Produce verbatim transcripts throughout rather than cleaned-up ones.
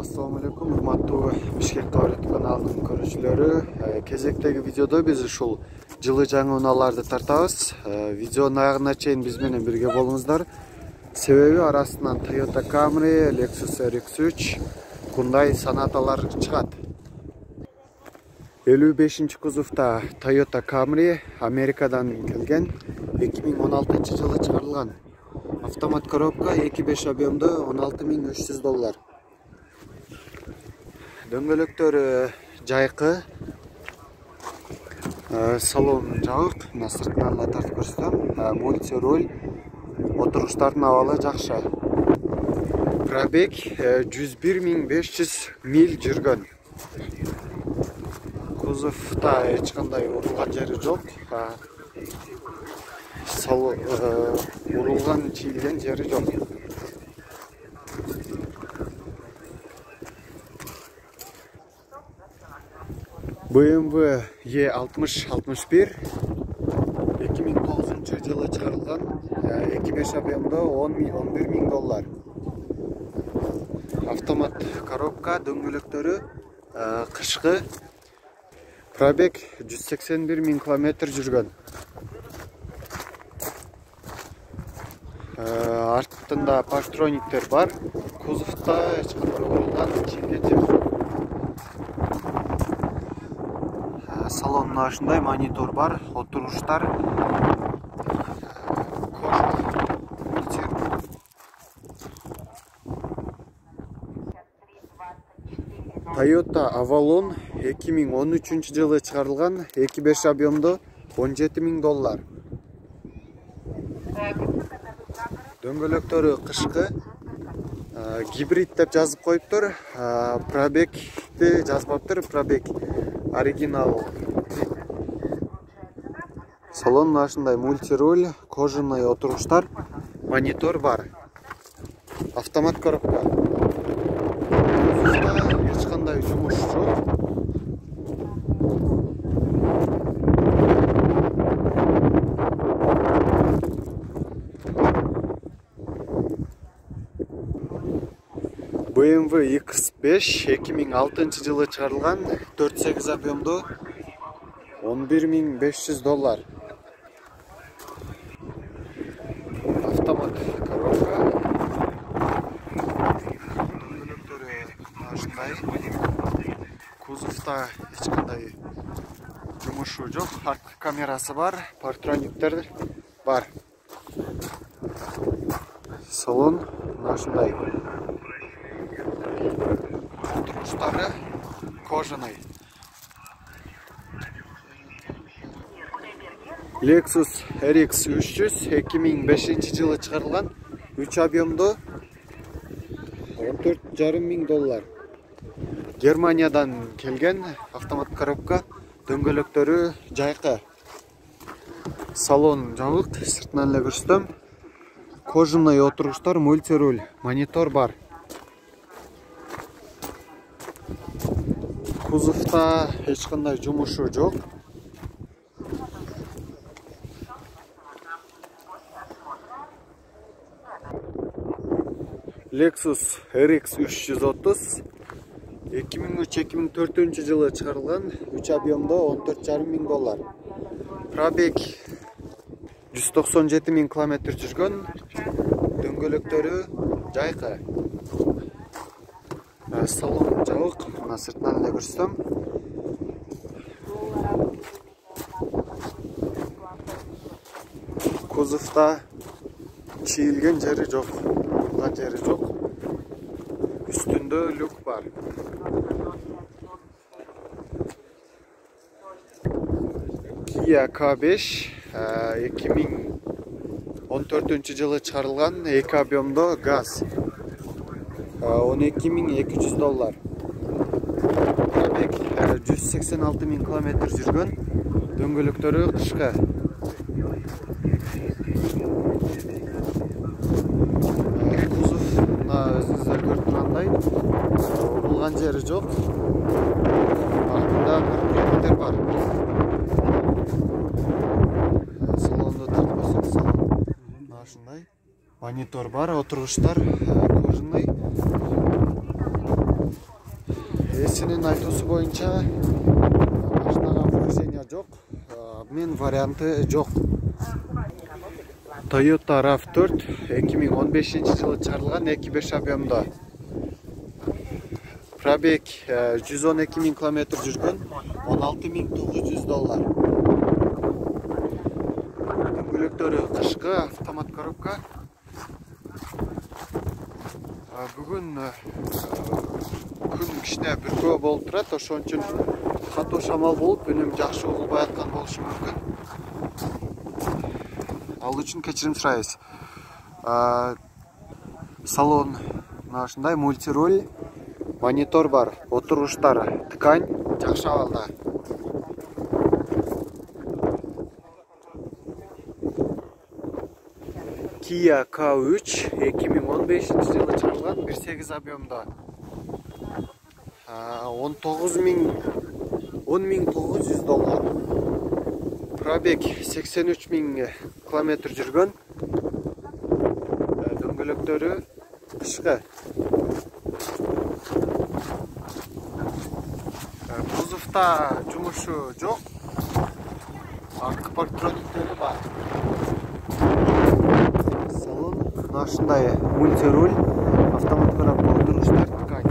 Assalamu alaikum, урматтуу Бишкек Таврет каналынын көрүүчүлөрү. Кезектеги видеодо биз ушул жылы жаңы унааларды тартабыз. Видеонун аягына чейин биз менен бирге болуңуздар. Себеби арасынан Toyota Camry, Lexus R X үч, Hyundai Sonatалар чыгат. элүү бешинчи кузовта Toyota Camry Америкадан келген, эки миң он алтынчы жылы чыгарылган. Автомат коробка, эки беш объемдо, он алты миң үч жүз доллар. Дөңгөлөктөрү жайкы, салон жабык, мына сыртынан да тартып көрсөтөм. Мультируль, отуруштардын абалы жакшы. Пробег жүз бир миң беш жүз миль жүргөн. Кузовта эч кандай урулган жери жок. Салон урулган, чийилген жери жок. бэ эм вэ е алтымыш алтымыш бир эки миң тогузунчу жылы чыгарылган, эки беш объемдо, он бир миң доллар. Автомат коробка, дөңгөлөктөрү кышкы. Пробег жүз сексен бир миң километр жүргөн. Артында паштрониктер бар. Кузовта эч кандай урулган, чийилген жер жок. Салонунда ушундай монитор бар, отуруштар. Toyota Avalon эки миң он үчүнчү жылы чыгарылган, эки беш объемдо, он жети миң доллар. Дөңгөлөктөрү кышкы, гибрид деп жазып коюптур. Пробегди жазбаптыр, пробег оригинал. Салон ушундай мультируль, кожаный отуруштар, монитор бар. Автомат коробка. Эч кандай жумуш жок. бэ эм вэ икс беш эки миң алтынчы жылы чыгарылган, төрт сегиз объемдо, он бир миң беш жүз доллар. Автомат коробка. Дөңгөлөктөрү ушундай. Кузовта эч кандай жумушу жок. Арт камерасы бар, паштрониктер бар. Салон ушундай. Отуруштары кожаный. Lexus R X үч жүз эки миң бешинчи жылы чыгарылган, үч объемдо, он төрт жарым миң доллар. Германиядан келген, автомат коробка, дөңгөлөктөрү жайкы. Салон жабык, сыртынан эле көрсөтөм. Кожаный отуруштар, мультируль, монитор бар. Кузовта эч кандай жумушу жок. Lexus R X үч жүз отуз эки миң үч эки миң төртүнчү жылы чыгарылган, үч объемдо, он төрт жарым миң доллар. Пробег жүз токсон жети миң километр жүргөн. Дөңгөлөктөрү жайкы. Салон жабык, мына сыртынан эле көрсөтөм. Кузовта чийилген жери жок, урулган жери жок. Үстүндө люк бар. Kia K беш эки миң он төртүнчү жылы чыгарылган, эки объемдо, газ. он эки миң эки жүз доллар. Пробег жүз сексен алты миң километр жүргөн. Дөңгөлөктөрү кышкы. Кузов мына өзүңүздөр көрүп тургандай, урулган жери жок. Артында паштрониктер бар. Салонду тартып көрсөтсөм, мына ушундай. Монитор бар, отуруштар кожаный. Ээсинин айтуусу боюнча машинага вращение жок, мен варианты жок. Toyota рав төрт эки миң он бешинчи жылы чыгарылган эки беш объемдо. Пробег жүз он эки миң километр жүргөн, он алты миң тогуз жүз доллар. Дөңгөлөктөрү кышкы, автомат коробка. Бүгүн күн кичине бүркөө болуп турат, ошон үчүн катуу шамал болуп, үнүм жакшы угулбай аткан болушу мүмкүн. Ал үчүн кечирим сурайбыз. Салон ушундай мультируль, монитор бар, отургучтар ткань, жакшы абалда. Kia К үч эки миң он бешинчи жылы чыгарылган, бир сегиз объемдо. он тогуз миң он миң тогуз жүз доллар. Пробег сексен үч миң километр жүргөн. Дөңгөлөктөрү кышкы. Кузовта жумушу жок. Арткы парктрониктери бар. Салон ушундай мультируль, автомат коробка, отургучтар ткань.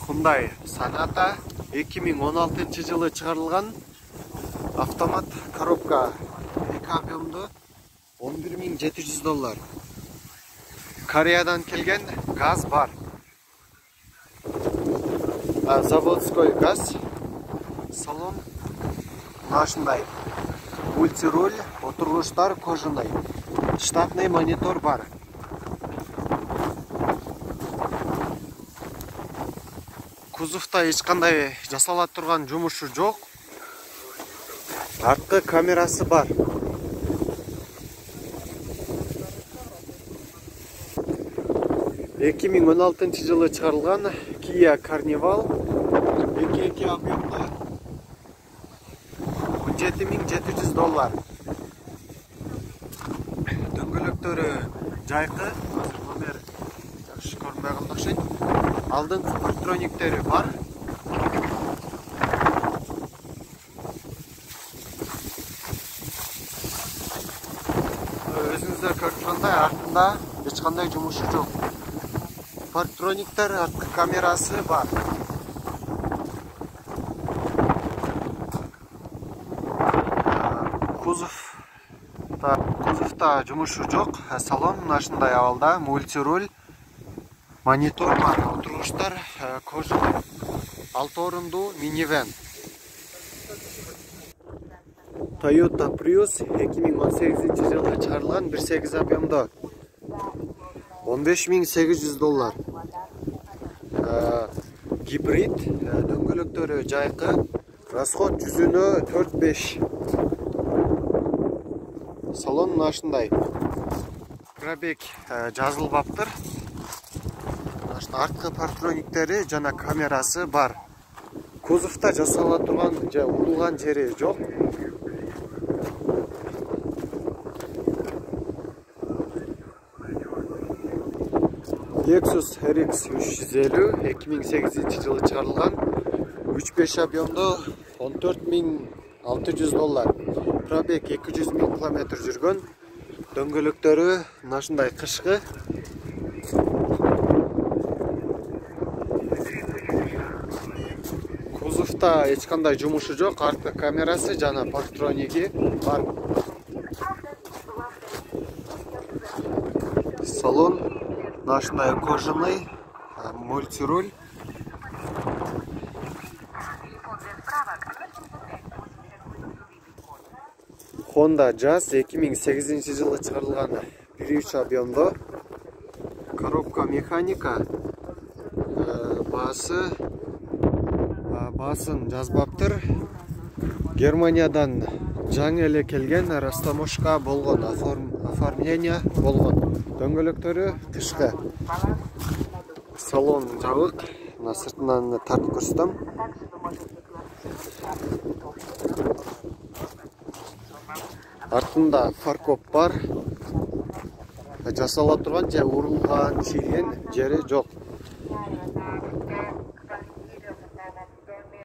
Hyundai Sonata эки миң он алтынчы жылы чыгарылган, автомат коробка, эки объемдо, он бир миң жети жүз доллар. Кореядан келген, газ бар. Заводской газ. Салон ушундай мультируль, отургучтар кожаный. Штатный монитор бар. Кузовта эч кандай жасала турган жумушу жок. Арткы камерасы бар. эки миң он алтынчы жылы чыгарылган Kia Carnival эки эки объемдо, он жети миң жети жүз доллар. Дөңгөлөктөрү жайкы, азыр номер жакшы көрүнбөй калды окшойт. Алдыңкы парктрониктери бар. Өзүңүздөр көрүп тургандай, артында эч кандай жумушу жок. Парктрониктер, арткы камерасы бар. Кузовта кузовта жумушу жок. Салон ушундай абалда, мультируль, монитор бар, отургучтар кожаный. алты орундуу минивэн. Toyota Prius эки миң он сегизинчи жылы чыгарылган, бир сегиз объемдо, он беш миң сегиз жүз доллар. Гибрид, дөңгөлөктөрү жайкы, расход жүзүнө төрт беш. Салон ушундай. Пробег жазылбаптыр. Арткы парктрониктери жана камерасы бар. Кузовта жасала турган же урулган жери жок. Lexus эр икс үч жүз элүү эки миң сегизинчи жылы чыгарылган, үч беш объемдо, он төрт миң алты жүз доллар. Пробег эки жүз миң километр жүргөн. Дөңгөлөктөрү ушундай кышкы. Кузовта эч кандай жумушу жок, арткы камерасы жана парктрониги бар. Салон ушундай кожаный, мультируль. Honda Jazz эки миң сегизинчи жылы чыгарылган, бир үч объемдо, коробка механика, баасы баасын жазбаптыр. Германиядан жаңы эле келген, растаможка болгон, оформление болгон. Дөңгөлөктөрү кышкы. Салон жабык. Мына сыртынан тартып көрсөтөм. Артында фаркоп бар. жасала турган же урулган чийилген жери жок.